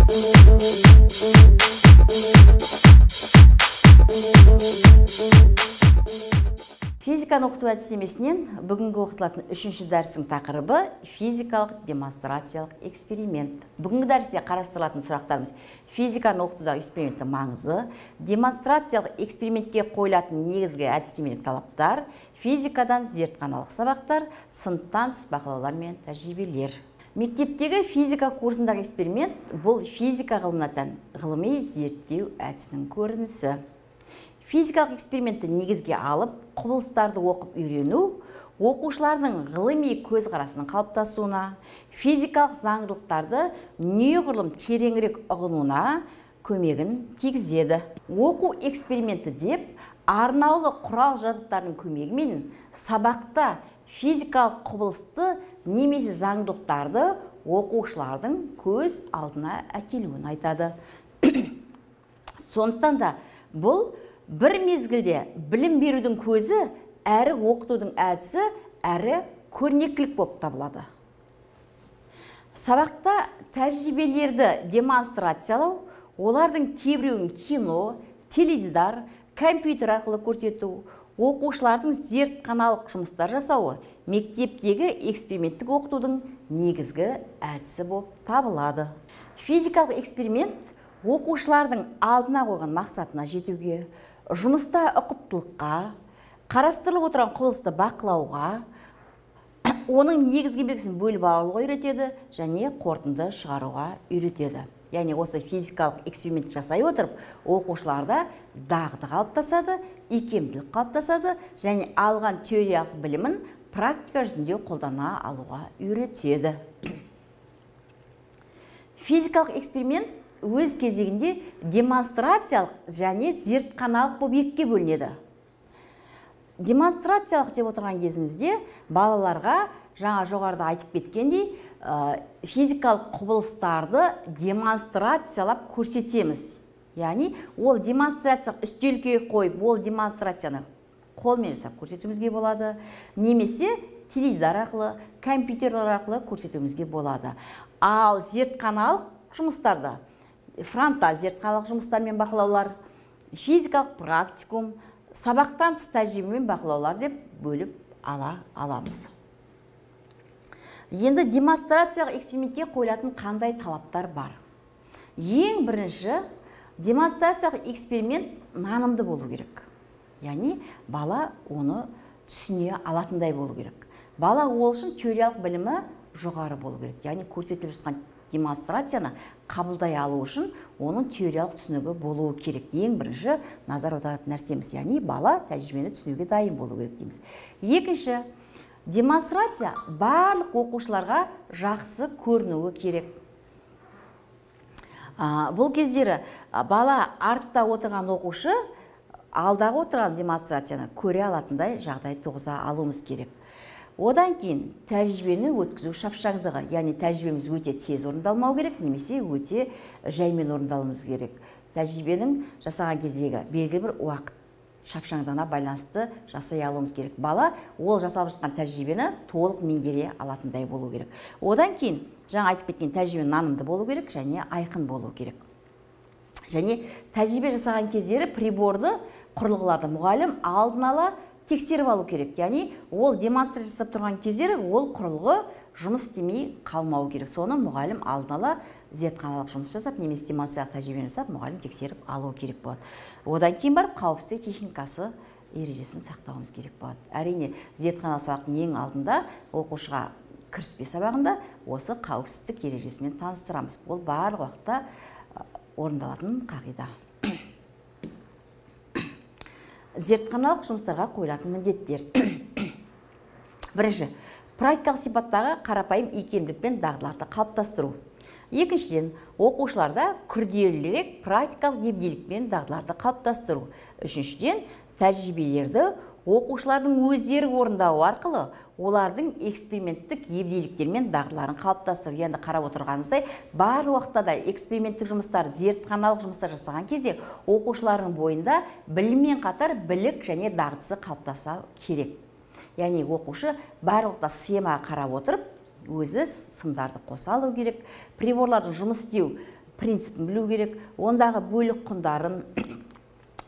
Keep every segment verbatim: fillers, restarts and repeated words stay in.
Физиканы оқыту әдістемесінен бүгінгі оқытылатын үшінші дәрістің тақырыбы физикалық демонстрациялық эксперимент. Бүгінгі дәрісте қарастырылатын сұрақтарымыз физиканы оқытудағы эксперименттің маңызы, демонстрациялық экспериментке қойылатын негізгі әдістемелік талаптар, физикадан зертханалық сабақтар, сыныптан тыс бақылаулар мен тәжірибелер. Мектептегі физика курсындағы эксперимент бұл физика ғылымына тән ғылыми зерттеу әдісінің көрінісі. Физикалық экспериментті негізге алып, құбылыстарды оқып үйрену, оқушылардың ғылыми көзқарасының қалыптасуына, физикалық заңдылықтарды неғұрлым тереңірек ұғынуына көмегін тигізеді. Оқу эксперименті деп арнаулы құрал жабдықтардың көмегімен сабақта физикалық құбылысты немесе заңдылықтарды оқушылардың көз алдына әкелуін айтады. Сондықтан да бұл бір мезгілде білім берудің көзі, әрі оқытудың әдісі, әрі көрнекілік болып табылады. Сабақта тәжірибелерді демонстрациялау, олардың кейбіреуін кино, теледидар, компьютер арқылы көрсету, оқушылардың зертханалық жұмыстар жасауы мектептегі эксперименттік оқытудың негізгі әдісі болып табылады. Физикалық эксперимент оқушылардың алдына қойған мақсатына жетуге, жұмыста ұқыптылыққа, қарастырылып отырған құбылысты бақылауға, оның негізгі белгісін бөліп алуға үйретеді және қорытынды шығаруға үйретеді. Яғни осы физикалық эксперимент жасай отырып, оқушыларда дағды қалыптасады, икемділік қалыптасады және алған теориялық білімін практика жүзінде қолдана алуға үйретеді. Физикалық эксперимент өз кезегінде демонстрациялық және зертханалық болып екіге бөлінеді. Демонстрациялық деп отырған кезімізде балаларға жаңа жоғарыда айтып кеткендей физикалық құбылыстарды демонстрациялап көрсетеміз. Яғни ол демонстрациялық үстелге қойып, ол демонстрацияны қолмен жасап көрсетуімізге болады, немесе теледидар арқылы, компьютерлер арқылы көрсетуімізге болады. Ал зертханалық жұмыстарды фронталь зертханалық жұмыстармен бақылаулар, физикалық практикум, сабақтан тыс тәжірибемен бақылаулар деп бөліп ала аламыз. Енді демонстрациялық экспериментке қойылатын қандай талаптар бар? Ең бірінші, демонстрациялық эксперимент нанымды болу керек. Яғни бала оны түсіне алатындай болу керек. Бала ол үшін теориялық білімі жоғары болу керек. Яғни көрсетіліп жатқан демонстрацияны қабылдай алу үшін оның теориялық түсінігі болуы керек. Ең бірінші назар аударатын нәрсеміз, яғни бала тәжірибені түсінуге дайын болу керек дейміз. Екінші, демонстрация барлық оқушыларға жақсы көрінуі керек. Бұл кездері бала артта отырған оқушы алдағы отырған демонстрацияны көре алатындай жағдай туғыза алуымыз керек. Одан кейін тәжірибені өткізу шапшаңдығы, яғни тәжірибеміз өте тез орындалмау керек, немесе өте жаймен орындалуымыз керек. Тәжірибенің жасаған кездегі белгілі бір уақыт шапшаңдығына байланысты жасай алуымыз керек. Бала ол жасалып жатқан тәжірибені толық меңгере алатындай болу керек. Одан кейін жаңа айтып кеткен тәжірибе нанымды болу керек және айқын болу керек. Және тәжірибе жасаған кездері приборды, құрылғыларды мұғалім алдын ала тексеріп алу керек. Яғни ол демонстрация жасап тұрған кездері ол құрылғы жұмыс істемей қалмау керек. Соны мұғалім алдын ала зертханалық жұмыс жасап, немесе демонстрациялық тәжірибе жасап, мұғалім тексеріп алу керек болады. Одан кейін барып қауіпсіздік техникасы ережесін сақтауымыз керек болады. Әрине, зертханалық сабақтың ең алдында оқушыға кіріспе сабағында осы қауіпсіздік ережесімен таныстырамыз. Ол барлық уақытта орындалатын қағида. Зертханалық жұмыстарға қойылатын міндеттер. Бірінші, практикалық сипаттағы қарапайым икемділік пен дағдыларды қалыптастыру. Екіншіден, оқушыларда күрделірек практикалық ебделік пен дағдыларды қалыптастыру. Үшіншіден, тәжірибелерді оқушылардың өздері орындауы арқылы олардың эксперименттік ебделіктер мен дағдыларын қалыптастыру. Енді қарап отырғанымыздай, бар уақытта да эксперименттік жұмыстар, зертханалық жұмыстар жасаған кезде оқушылардың бойында біліммен қатар білік және дағдысы қалыптаса керек. Яғни оқушы бар уақытта схемаға қарап отырып, өзі сымдарды қоса алу керек, приборлардың жұмыс істеу принципін білу керек, ондағы бөлік құндарын,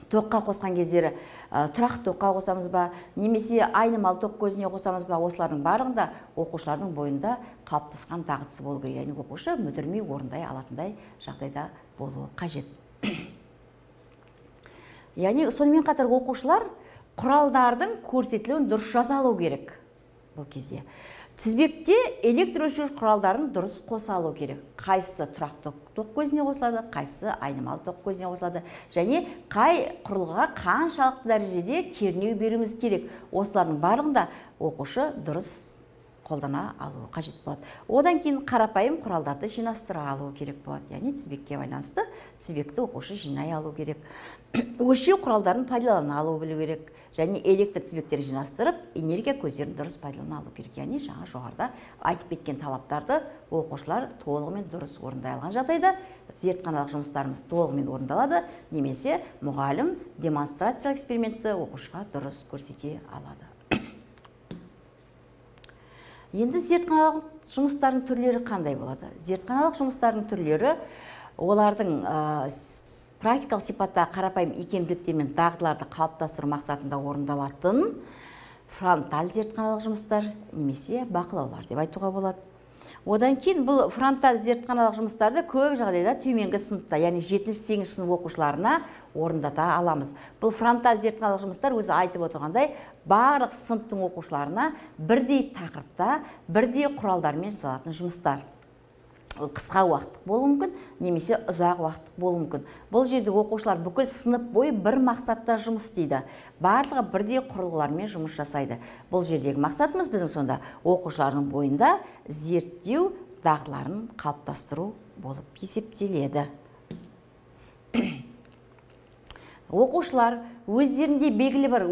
тоққа қосқан кездері тұрақ тоққа қосамыз ба, немесе айнымалы тоқ көзіне қосамыз ба, осылардың барлығында оқушылардың бойында қалыптасқан дағдысы болу керек. Яғни оқушы мүдірмей орындай алатындай жағдайда болуы қажет. Яғни сонымен қатар оқушылар құралдардың көрсетілуін дұрыс жаза алу керек. Бұл кезде тізбекте электрөлшеуіш құралдарын дұрыс қоса алу керек. Қайсысы тұрақ тоқ көзіне қосылады, қайсысы айнымалы тоқ көзіне қосылады, және қай құрылғыға қаншалықты дәрежеде кернеу беруіміз керек. Осылардың барлығында оқушы дұрыс қолдана алу қажет болады. Одан кейін қарапайым құралдарды жинастыра алу керек болады. Яғни тізбекке байланысты тізбекті оқушы жинай алу керек. Өлшеу құралдарын пайдалана алу білу керек. Және электр тізбектерін жинастырып, энергия көздерін дұрыс пайдалана алу керек. Яғни жаңа жоғарыда айтып кеткен талаптарды оқушылар толығымен дұрыс орындай алған жағдайда зертханалық жұмыстарымыз толығымен орындалады, немесе мұғалім демонстрациялық экспериментті оқушыға дұрыс көрсете алады. Енді зертханалық жұмыстардың түрлері қандай болады? Зертханалық жұмыстардың түрлері олардың практикалық сипатта қарапайым икемділіктер мен дағдыларды қалыптастыру мақсатында орындалатын фронталь зертханалық жұмыстар немесе бақылаулар деп айтуға болады. Одан кейін бұл фронталь зертханалық жұмыстарды көп жағдайда төменгі сыныпта, яғни жетінші сегізінші сынып оқушыларына орындата аламыз. Бұл фронталь зертханалық жұмыстар өзі айтып отырғандай барлық сыныптың оқушыларына бірдей тақырыпта, бірдей құралдармен жасалатын жұмыстар. Ол қысқа уақыттық болуы мүмкін, немесе ұзақ уақыттық болуы мүмкін. Бұл жерде оқушылар бүкіл сынып бойы бір мақсатта жұмыс істейді. Барлығы бірдей құрылғылармен жұмыс жасайды. Бұл жердегі мақсатымыз біздің сонда оқушылардың бойында зерттеу дағдыларын қалыптастыру болып есептеледі. Оқушылар өздерінде белгілі бір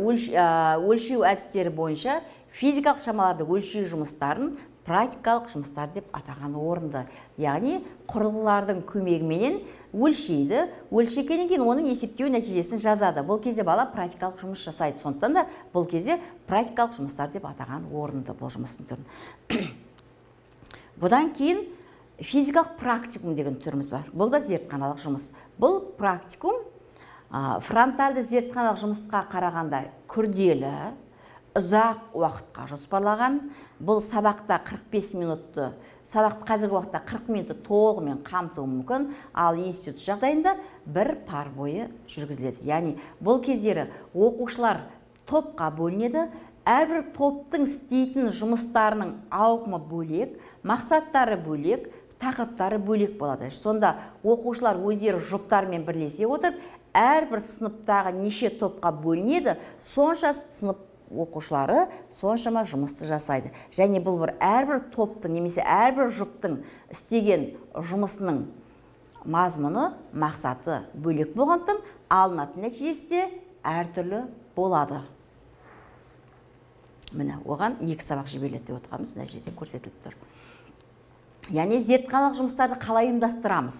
өлшеу әдістері бойынша физикалық шамаларды өлшеу жұмыстарын практикалық жұмыстар деп атаған орынды. Яғни құрылғылардың көмегіменен өлшейді, өлшегеннен кейін оның есептеу нәтижесін жазады. Бұл кезде бала практикалық жұмыс жасайды. Сондықтан да бұл кезде практикалық жұмыстар деп атаған орынды бұл жұмыстың түрін. Бұдан кейін физикалық практикум деген түріміз бар. Бұл да зертханалық жұмыс. Бұл практикум фронтальды зертханалық жұмысқа қарағанда күрделі, ұзақ уақытқа жоспарлаған. Бұл сабақта қырық бес минутты, сабақты қазіргі уақытта қырық минутты толығымен қамтуы мүмкін, ал институт жағдайында бір пар бойы жүргізіледі. Яғни бұл кездері оқушылар топқа бөлінеді, әрбір топтың істейтін жұмыстарының ауқымы бөлек, мақсаттары бөлек, тақырыптары бөлек болады. Сонда оқушылар өздері жұптармен бірлесе отырып, әрбір сыныптағы неше топқа бөлінеді, сонша сынып оқушылары соншама жұмысты жасайды. Және бұл бір әрбір топтың немесе әрбір жұптың істеген жұмысының мазмұны, мақсаты бөлек болғандықтан алынатын нәтижесі де әртүрлі болады. Міне, оған екі сабақ жіберіледі деп отырғанымыз мына жерде көрсетіліп тұр. Яғни зертханалық жұмыстарды қалай ұйымдастырамыз?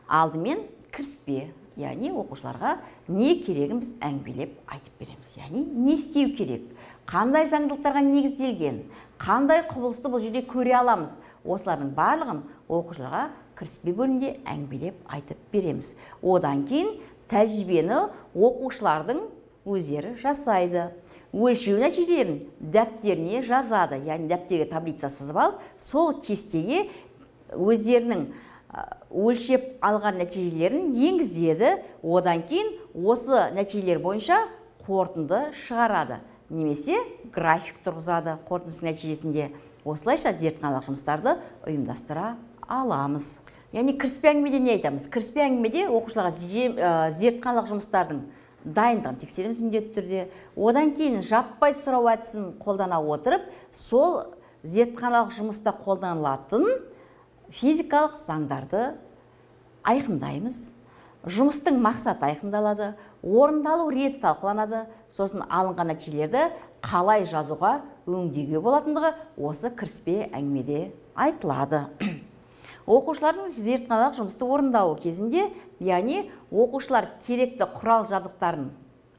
Алдымен кіріспе, яғни оқушыларға не керегін біз әңгімелеп айтып береміз. Яғни не істеу керек, қандай заңдылықтарға негізделген, қандай құбылысты бұл жерде көре аламыз. Осылардың барлығын оқушыларға кіріспе бөлімінде әңгімелеп айтып береміз. Одан кейін тәжірибені оқушылардың өздері жасайды. Өлшеу нәтижелерін дәптеріне жазады, яғни дәптерге таблица сызып алып, сол кестеге өздерінің өлшеп алған нәтижелерін енгізеді. Одан кейін осы нәтижелер бойынша қорытынды шығарады, немесе график тұрғызады қорытындысының нәтижесінде. Осылайша зертханалық жұмыстарды ұйымдастыра аламыз. Яғни кіріспе әңгімеде не айтамыз? Кіріспе әңгімеде оқушыларға зертханалық жұмыстардың дайындығын тексереміз міндетті түрде. Одан кейін жаппай сұрау әдісін қолдана отырып, сол зертханалық жұмыста қолданылатын физикалық заңдарды айқындаймыз. Жұмыстың мақсаты айқындалады, орындалу реті талқыланады, сосын алынған нәтижелерді қалай жазуға өңдеуге болатындығы осы кіріспе әңгімеде айтылады. Оқушылардың зертханалық жұмысты орындауы кезінде, яғни оқушылар керекті құрал жабдықтарын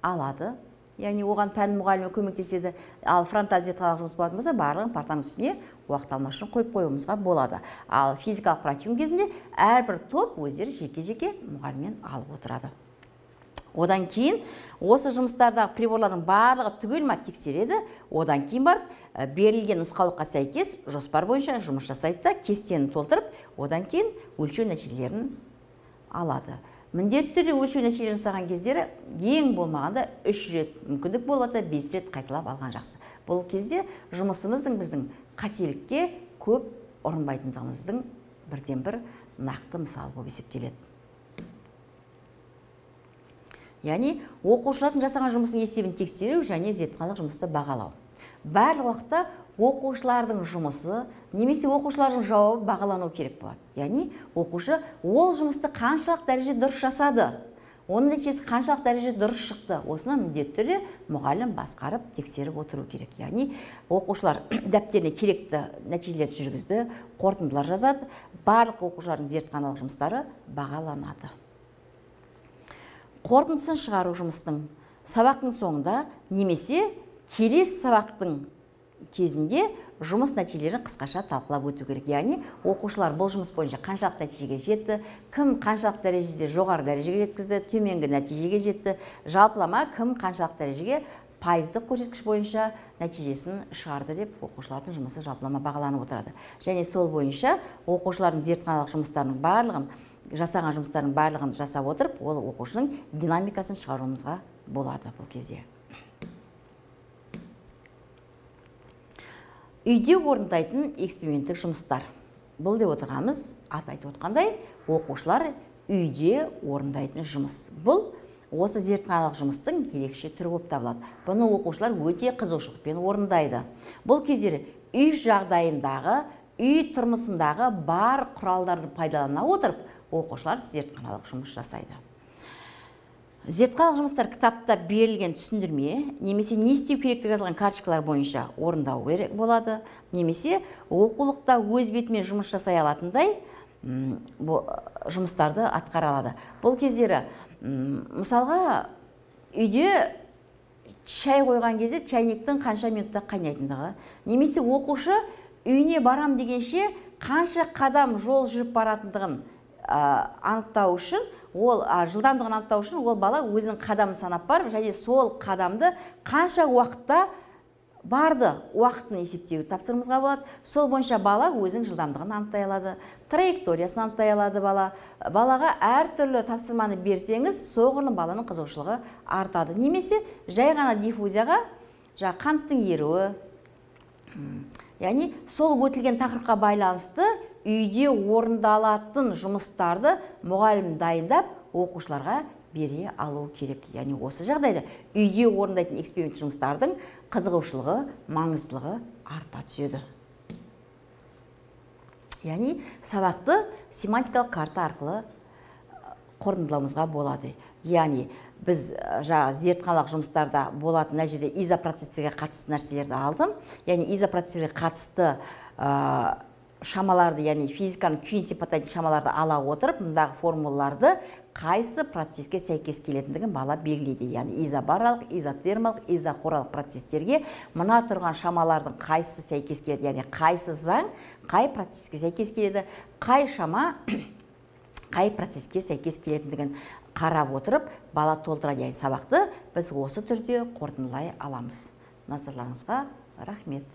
алады, яғни оған пән мұғалімі көмектеседі. Ал фронталды зертханалық жұмыс болатын болса, барлығын партаның үстіне уақыт алмас үшін қойып қоюымызға болады. Ал физикалық практикум кезінде әрбір топ өздері жеке-жеке мұғаліммен алып отырады. Одан кейін осы жұмыстардағы приборлардың барлығы түгел ма тексереді. Одан кейін барып берілген нұсқаулыққа сәйкес жоспар бойынша жұмыс жасайды да, кестені толтырып, одан кейін өлшеу нәтижелерін алады. Міндетті түрде өлшеу нәтижелерін жасаған кездері ең болмағанда үш рет, мүмкіндік болса бес рет қайталап алған жақсы. Бұл кезде жұмысымыздың біздің қателікке көп ұрынбайтындығымыздың бірден бір нақты мысалы болып есептеледі. Яғни оқушылардың жасаған жұмысын есебін тексеру және зертханалық жұмысты бағалау. Барлық уақытта оқушылардың жұмысы немесе оқушылардың жауабы бағалану керек болады. Яғни оқушы ол жұмысты қаншалық дәреже дұрыс жасады, оның нәтижесі қаншалық дәреже дұрыс шықты, осыны міндетті түрде мұғалім басқарып тексеріп отыру керек. Яғни оқушылар дәптеріне керекті нәтижелерді жүргізді, қорытындылар жазады, барлық оқушылардың зертханалық жұмыстары бағаланады. Қорытындысын шығару жұмыстың сабақтың соңында немесе келесі сабақтың кезінде жұмыс нәтижелерін қысқаша талқылап өту керек. Яғни оқушылар бұл жұмыс бойынша қаншалық нәтижеге жетті, кім қаншалық дәрежеде жоғары дәрежеге жеткізді, төменгі нәтижеге жетті, жалпылама кім қаншалық дәрежеге пайыздық көрсеткіш бойынша нәтижесін шығарды деп оқушылардың жұмысы жалпылама бағаланып отырады. Және сол бойынша оқушылардың зертханалық жұмыстарының барлығын, жасаған жұмыстардың барлығын жасап отырып, ол оқушының динамикасын шығаруымызға болады бұл кезде. Үйде орындайтын эксперименттік жұмыстар. Бұл деп отырғанымыз, аты айтып отқандай, оқушылар үйде орындайтын жұмыс. Бұл осы зертханалық жұмыстың ерекше түрі болып табылады. Бұны оқушылар өте қызығушылықпен орындайды. Бұл кездері үй жағдайындағы, үй тұрмысындағы бар құралдарды пайдалана отырып, оқушылар зертханалық жұмыс жасайды. Зертханалық жұмыстар кітапта берілген түсіндірме, немесе не істеу керектігі жазылған карточкалар бойынша орындау керек болады, немесе оқулықта өз бетімен жұмыс жасай алатындай жұмыстарды атқара алады. Бұл кездері, мысалға, үйде шай қойған кезде чайниктің қанша минутта қайнайтындығы, немесе оқушы үйіне барам дегенше қанша қадам жол жүріп баратындығын анықтау үшін, ол жылдамдығын анықтау үшін ол бала өзінің қадамын санап барып, және сол қадамды қанша уақытта барды уақытын есептеуді тапсырмызға болады. Сол бойынша бала өзінің жылдамдығын анықтай алады, траекториясын анықтай алады бала. Балаға әртүрлі тапсырманы берсеңіз, соғұрлым баланың қызығушылығы артады. Немесе жай ғана диффузияға жаңа қанттың еруі, яғни сол өтілген тақырыпқа байланысты үйде орындалатын жұмыстарды мұғалім дайындап оқушыларға бере алу керек. Яғни осы жағдайда үйде орындайтын эксперимент жұмыстардың қызығушылығы, маңыздылығы арта түседі. Яғни сабақты семантикалық карта арқылы қорытындылауымызға болады. Яғни біз жаңа зертханалық жұмыстарда болатын мына жерде изопроцестерге қатысты нәрселерді алдым. Яғни изопроцестерге қатысты шамаларды, яғни физиканың күйін сипаттайтын шамаларды ала отырып, мұндағы формулаларды қайсы процеске сәйкес келетіндігін бала белгілейді. Яғни изобаралық, изотермалық, изохоралық процестерге мына тұрған шамалардың қайсысы сәйкес келеді, яғни қайсы заң қай процеске сәйкес келеді, қай шама қай процеске сәйкес келетіндігін қарап отырып, бала толтырады. Яғни сабақты біз осы түрде қорытындылай аламыз. Назарларыңызға рахмет.